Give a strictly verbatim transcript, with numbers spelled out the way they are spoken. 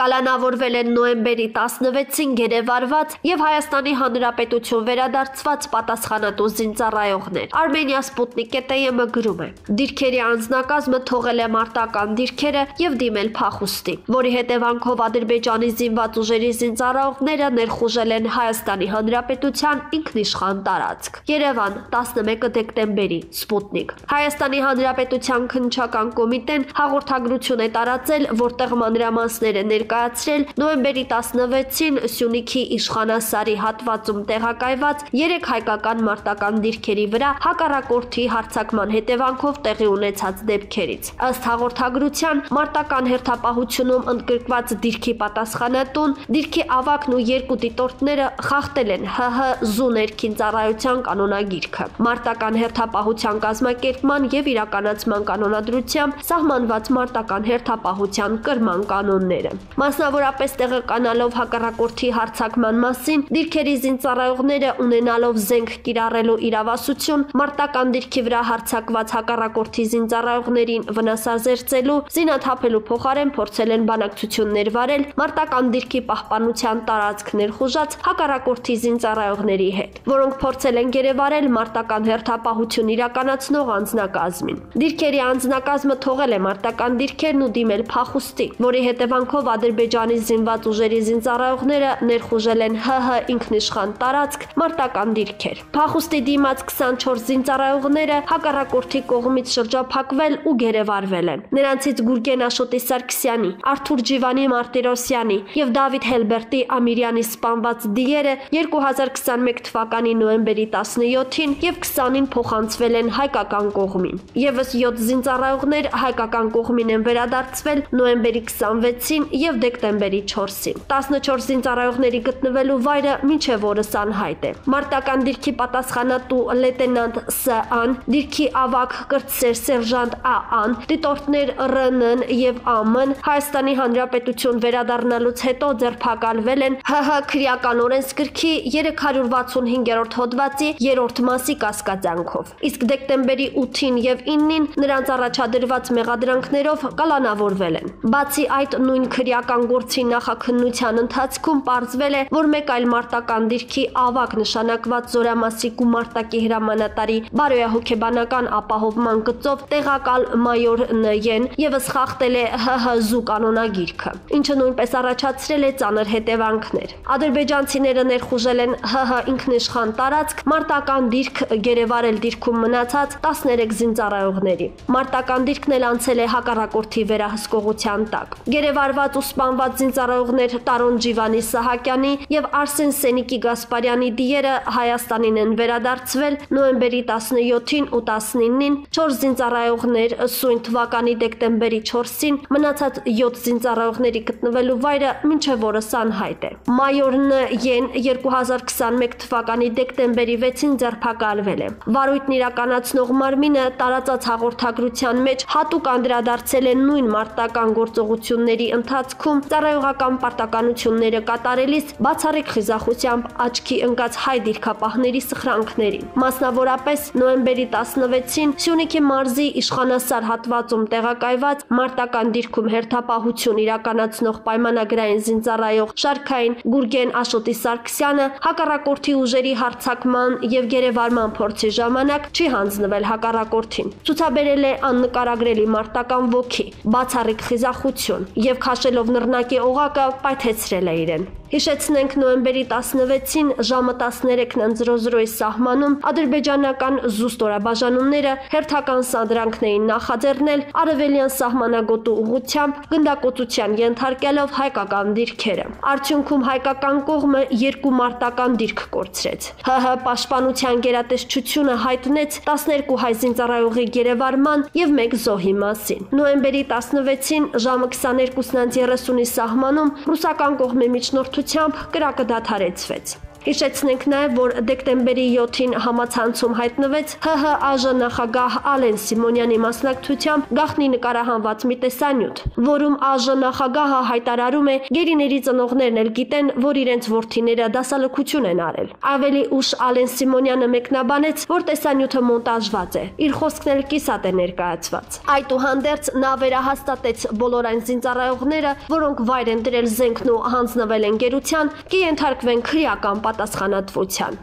Կալանավորվել են նոյեմբերի տասնվեցին գերեվարված եւ Հայաստանի Հանրապետություն վերադարձված պատասխանատու զինծառայողներ։ Armenia Sputnik T M գրում է. Դիրքերի անձնակազմը թողել է մարտական դիրքերը եւ դիմել փախուստի, որի հետևանքով Ադրբեջանի զինված ուժերի զինծառայողները ներխուժել են Հայաստանի Հանրապետության ինքնիշխան տարածք։ Երևան տասնմեկը դեկտեմբերի Sputnik Հայաստանի Հանրապետության քննչական կոմիտեն հաղորդագրություն է տարածել, որտեղ մանրամասները ներկայացրել նոյեմբերի տասնվեցին Սյունիքի Իշխանասարի հատվածում տեղակայված երեք հայկական մարտական դիրքերի վրա հակառակորդի հարձակման հետևանքով տեղի ունեցած դեպքերից։ Ըստ հաղորդագրության մարտական հերթապահությունում ընդգրկված դիրքի պատասխանատուն, դիրքի ավագն ու երկու դիտորդները խախտել են Հ Հ զու ներքին ծառայության կանոնագիրքը, մարտական հերթապահության կազմակերպման եւ իրականացման կանոնադրությամբ սահմանված մարտական հերթապահության կրման կանոնները։ Մասնավորապես տեղեկանալով հակառակորդի հարձակման մասին, դիրքերի զինծառայողները ունենալով զենք կիրառելու իրավասություն, մարտական դիրքի վրա հարձակված հակառակորդի զինծառայողներին վնասազերծելու, զինաթափելու փոխարեն փորձել են բանակցություններ վարել մարտական դիրքի պահպանության տարածք ներխուժած հակառակորդի զինծառայողների հետ, որոնք փորձել են գերեվարել մարտական հերթապահություն իրականացնող անձնակազմին։ Դիրքերի անձնակազմը թողել է մարտական դիրքերն ու դիմել փախուստի, որի հետևանքով Ադրբեջանի զինված ուժերի զինծառայողները ներխուժել են Հ Հ ինքնիշխան տարածք մարտական դիրքեր։ Փախուստի դիմաց քսանչորս զինծառայողները հակառակորդի կողմից շրջափակվել ու գերեվարվել են։ Նրանցից Գուրգեն Աշոտի Սարգսյանի, Արթուր Ջիվանի Մարտիրոսյանի եւ Դավիթ Հելբերտի Ամիրյանի սպանված դիերը երկու հազար քսանմեկ թվականի նոյեմբերի տասնյոթին եւ քսանին փոխանցվել են հայկական կողմին։ Եվս յոթ զինծառայողներ հայկական կողմին են վերադարձվել նոյեմբերի քսանվեցին եւ դեկտեմբերի չորսին։ տասնչորս զինծառայողների գտնվելու վայրը մինչեւ օրս անհայտ է։ Մարտական դիրքի պատասխանատու լեյտենանտ Ս Ան, դիրքի ավագ կրտսեր սերժանտ Ա Ան, դիտորդներ Ռ Ն եւ Ա Մ-ն Հայաստանի Հանրապետություն վերադառնալուց հետո ձերբակալվել են Հ Հ քրեական օրենսգրքի երեք հարյուր վաթսունհինգերորդ հոդվածի երրորդ մասի կասկածանքով։ Իսկ դեկտեմբերի ութին եւ իննին նրանց առաջադրված մեղադրանքներով կալանավորվել են։ Բացի այդ, նույն քրեական գործի նախաքննության ընթացքում պարզվել է, որ մեկ այլ մարտական դիրքի ավագ նշանակված Զորամասի գումարտակի հրամանատարի բարոյահոգեբանական ապահովման գծով տեղակալ մայոր Ն-ն եւս խախտել է Հ Հ զու կանոնագիրքը, ինչը նույնպես առաջացրել է ծանր հետևանքներ։ Ադրբեջանցիները ներխուժել են Հ Հ ինքնիշխան տարածք մարտական դիրք գերեվարել դիրքում մնացած տասներեք զինծառայողների։ Մարտական դիրքն էլ անցել է հակառակորդի վերահսկողության տակ։ Գերեվարված ու սպանված զինծառայողներ Տարոն Ջիվանի Սահակյանի եւ Արսեն Սենիկի Գասպարյանի դիերը Հայաստանին են վերադարձվել նոյեմբերի տասնյոթին ու տասնինին, չորս զինծառայողներ սույն թվականի դեկտեմբերի չորսին, մնացած յոթ զինծառայողների գտնվելու վայրը մինչեւ օրս անհայտ է։ Մայոր Ն-ն երկու հազար քսանմեկ թվականի դեկտեմբերի վեցին ձերբակալվել է։ Վարույթն իրականացնող մարմինը տարածած հաղորդագրության մեջ հատուկ անդրադարձել է նույն մարտական գործողությունների ընթացքում ծառայողական պարտականությունները կատարելիս բացառիկ խիզախությամբ աչքի ընկած հայ դիրքապահների սխրանքներին։ Մասնավորապես նոյեմբերի տասնվեցին Սյունիքի մարզի Իշխանասար հատվածում տեղակայված մարտական դիրքում հերթապահություն իրականացնող պայմանագրային զինծառայող Շարքային Գուրգեն Աշոտի Սարգսյանը հակառակորդի ուժերի հարձակման եւ գերեվարման փորձի ժամանակ չի հանձնվել հակառակորդին։ Ցուցաբերել է աննկարագրելի մարտական ոգի, բացառիկ խիզախություն եւ քաշելով նռնակի օղակը պայթեցրել է իրեն։ Հիշեցնենք նոյեմբերի տասնվեցին ժամը տասներեքն ընդ զրո զրոյի սահմանում ադրբեջանական զուստորաբաժանումները հերթական սադրանքն էին նախաձեռնել արևելյան սահմանագոտու ուղղությամբ գնդակոծության ենթարկելով հայկական դիրքերը։ Արդյունքում հայկական կողմը երկու մարտական դիրք կորցրեց։ Հ Հ պաշտպանության գերատեսչությունը հայտնեց տասներկու հայ զինծառայողի գերեվարման եւ մեկ զոհի մասին։ Նոյեմբերի տասնվեցին ժամը քսաներկուսն ընդ երեսունի սահմանում ռուսական կողմի միջնորդությամբ կրակը դադարեցվեց։ Հիշեցնենք նաև, որ դեկտեմբերի յոթին համացանցում հայտնվեց ՀՀ ԱԺ նախագահ Ալեն Սիմոնյանի մասնակցությամբ գաղտնի նկարահանված մի տեսանյութ, որում ԱԺ նախագահը հայտարարում է գերիների ծնողներն էլ գիտեն, որ իրենց որդիները դասալքություն են արել։ Ավելի ուշ Ալեն Սիմոնյանը մեկնաբանեց, որ տեսանյութը մոնտաժված է, իր խոսքն էլ կիսատ է ներկայացված։ Այդուհանդերձ նա վերահաստատեց բոլոր այն զինծառայողները, որոնք վայր են դրել զենքն ու հանձնվել են գերության, կենթարկվեն քրեական պատասխանատվության։